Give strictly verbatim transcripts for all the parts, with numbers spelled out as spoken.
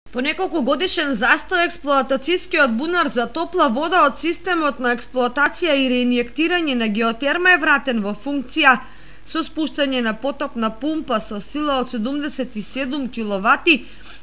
По неколку годишен застој, експлоатацијскиот бунар за топла вода од системот на експлоатација и реинјектирање на геотерма е вратен во функција со спуштање на потопна пумпа со сила од седумдесет и седум киловати.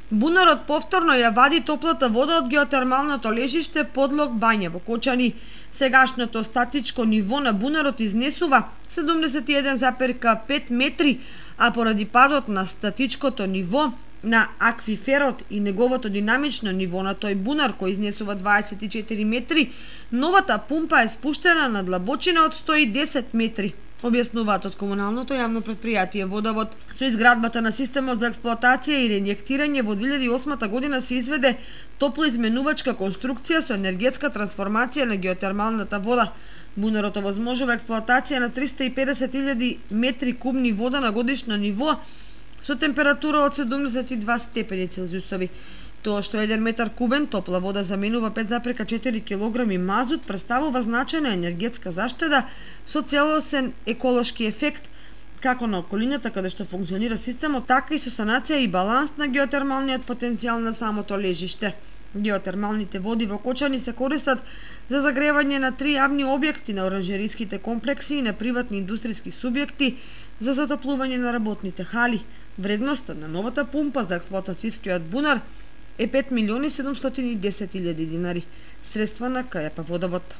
Бунарот повторно ја вади топлата вода од геотермалното лежиште подлог Бања во Кочани. Сегашното статичко ниво на бунарот изнесува седумдесет и еден запирка пет метри, а поради падот на статичкото ниво на аквиферот и неговото динамично ниво на тој бунар кој изнесува дваесет и четири метри, новата пумпа е спуштена на длабочина од сто и десет метри. Објаснуваат од комуналното јавно предпријатие Водовод. Со изградбата на системот за експлоатација и реинјектирање во две илјади и осма година се изведе топлоизменувачка конструкција со енергетска трансформација на геотермалната вода. Бунарот овозможува експлоатација на триста и педесет илјади метри кубни вода на годишно ниво со температура од седумдесет и два степени Целзиусови. Тоа што еден метар кубен топла вода заменува пет запирка четири килограми мазут представува значајна енергетска заштеда со целосен еколошки ефект како на околината каде што функционира системот, така и со санација и баланс на геотермалниот потенцијал на самото лежиште. Геотермалните води во Кочани се користат за загревање на три јавни објекти на оранжериските комплекси и на приватни индустријски субјекти за затоплување на работните хали. Вредноста на новата пумпа за експлоатацијскиот бунар е пет милиони седумстотини и десет илјади динари. Средства на КЈП Водовод.